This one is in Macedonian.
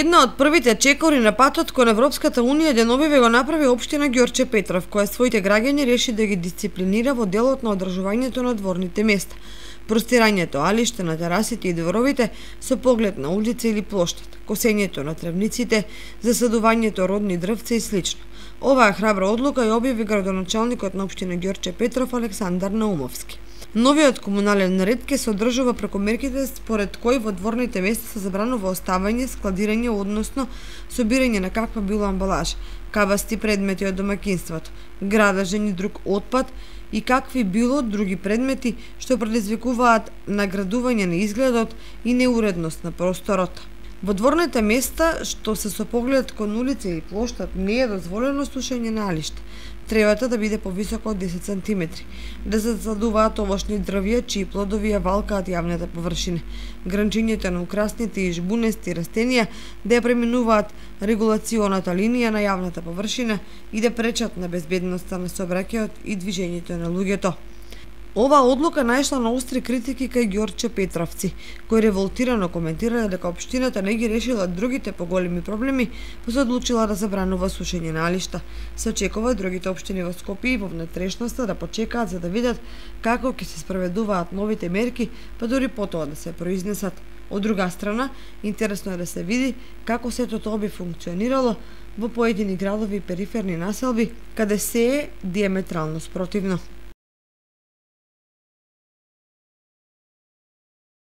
Една од првите чекори на патот кон Европската Унија деновиве го направи општина Ѓорче Петров, која своите граѓани реши да ги дисциплинира во делот на одржувањето на дворните места, простирањето алиште на терасите и дворовите со поглед на улица или плоштад, косењето на тревниците, засадувањето родни дрвца и слично. Оваа храбра одлука ја објави градоначалникот на општина Ѓорче Петров Александар Наумовски. Новиот комунален ред ќе се одржува преку мерките според кои во дворните места се забранува оставање, складирање, односно собирање на каква било амбалажа, кабасти предмети од домаќинството, градажен и друг отпад и какви било други предмети што предизвикуваат наградување на изгледот и неуредност на просторот. Во дворните места што се со поглед кон улица или плоштад не е дозволено сушење на алиште. Тревата да биде повисока од 10 см, да се засадуваат овошни дрвја чии плодови ја валкаат јавната површина, гранчињето на украсните и жбунести растенија да ја преминуваат регулационата линија на јавната површина и да пречат на безбедноста на сообраќајот и движењето на луѓето. Оваа одлука најшла на остри критики кај Ѓорче Петровци, кои револтирано коментирале дека општината не ги решила другите поголеми проблеми, па се одлучила да забранува сушење на алишта. Се очекува другите општини во Скопје и во внатрешноста да почекаат за да видат како ќе се спроведуваат новите мерки, па дури потоа да се произнесат. Од друга страна, интересно е да се види како сето тоа би функционирало во поедини градови и периферни населби, каде се е диаметрално спротивно.